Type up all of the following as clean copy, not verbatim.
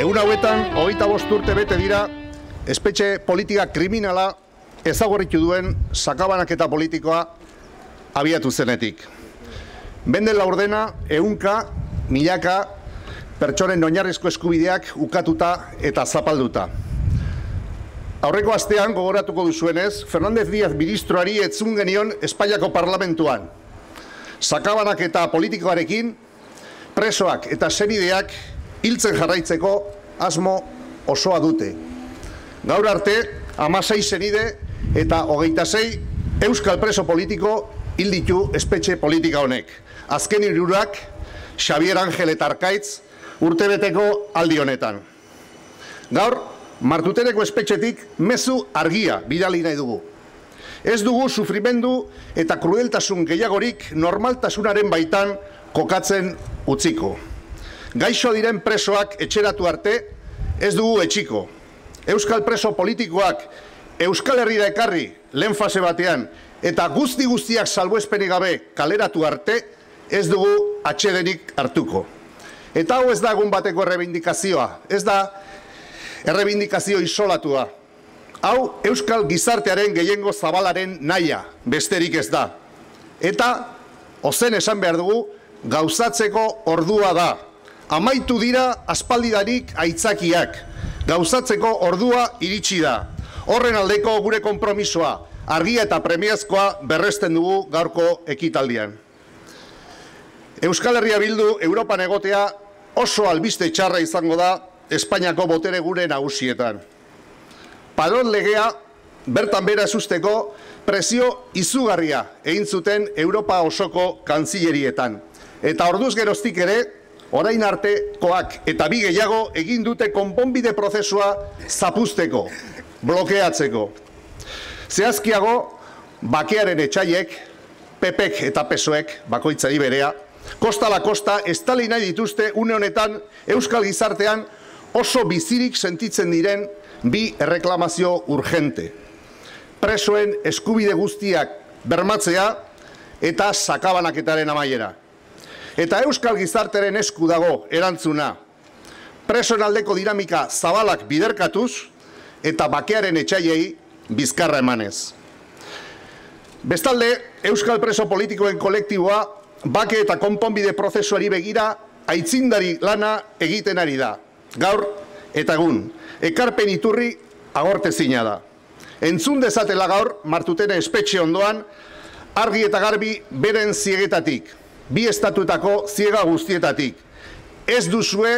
Egun hauetan, 25 urte bete dira, espetxe politika kriminala ezagorritu duen sakabanaketa politikoa abiatu zenetik. Benden laurdena, ehunka, milaka, pertsonen oinarrizko eskubideak ukatuta eta zapalduta. Aurreko astean gogoratuko duzuenez, Fernández Díaz ministroari etzun genion Espainiako parlamentuan. Sakabanaketa politikoarekin, presoak eta senideak hiltzen jarraitzeko asmo osoa dute. Gaur arte, 16 senide eta 26 euskal preso politiko hil ditu espetxe politika honek. Azken hirurak, Xabier Ángel eta Arkaitz, urtebeteko aldi honetan. Gaur, Martuteneko espetxetik mezu argia bidali nahi dugu. Ez dugu sufrimendu eta krudeltasun gehiagorik normaltasunaren baitan kokatzen utziko. Gaixo diren presoak etxeratu arte, ez dugu etxiko. Euskal preso politikoak Euskal Herrira ekarri lehen fase batean eta guztiak salbuespenik gabe kaleratu arte, ez dugu atsedenik hartuko. Eta hau ez da egun bateko errebindikazioa, ez da errebindikazio isolatua. Hau Euskal gizartearen gehiengo zabalaren nahia, besterik ez da. Eta, ozen esan behar dugu, gauzatzeko ordua da. Amaitu dira aspaldidanik aitzakiak. Gauzatzeko ordua iritsi da. Horren aldeko gure konpromisoa, argia eta premiazkoa berresten dugu gaurko ekitaldian. Euskal Herria Bildu Europan egotea oso albiste txarra izango da Espainiako botere gure nagusietan. Padron legea bertan bera ezusteko presio izugarria egin zuten Europa osoko kanzillerietan. Eta orduz geroztik ere, orain artekoak eta bi gehiago egin dute konponbide prozesua zapuzteko, blokeatzeko. Zehazkiago, bakearen etxaiek, PPek eta PSOek, bakoitzari berea, kosta la kosta estali nahi dituzte une honetan Euskal gizartean oso bizirik sentitzen diren bi erreklamazio urgente. Presoen eskubide guztiak bermatzea eta sakabanaketaren amaiera. Eta Euskal gizarteren esku dago erantzuna. Presoen aldeko dinamika zabalak biderkatuz eta bakearen etxaiei bizkarra emanez. Bestalde, Euskal preso politikoen kolektiboa bake eta konponbide prozesuari begira aitzindari lana egiten ari da. Gaur eta egun, ekarpen iturri agortezina da. Entzun dezatela gaur, Martutene espetxe ondoan, argi eta garbi beren ziegetatik, bi estatuetako ziega guztietatik. Ez duzue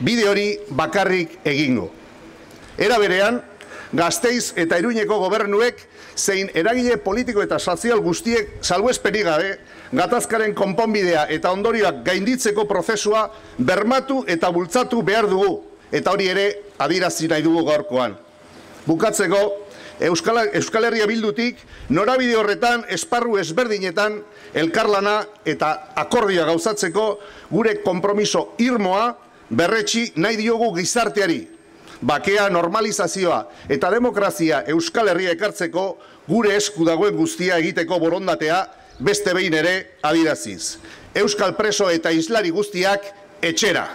bide hori bakarrik egingo. Era berean, Gasteiz eta Iruñeko gobernuek zein eragile politiko eta sozial guztiek salbuespenik gabe, gatazkaren konponbidea eta ondorioak gainditzeko prozesua bermatu eta bultzatu behar dugu, eta hori ere adierazi nahi dugu gaurkoan. Bukatzeko, Euskal Herria Bildutik norabide horretan esparru ezberdinetan elkarlana eta akordioa gauzatzeko gure konpromiso irmoa berretsi nahi diogu gizarteari. Bakea, normalizazioa eta demokrazia Euskal Herria ekartzeko gure esku dagoen guztia egiteko borondatea beste behin ere adieraziz. Euskal preso eta islari guztiak etxera.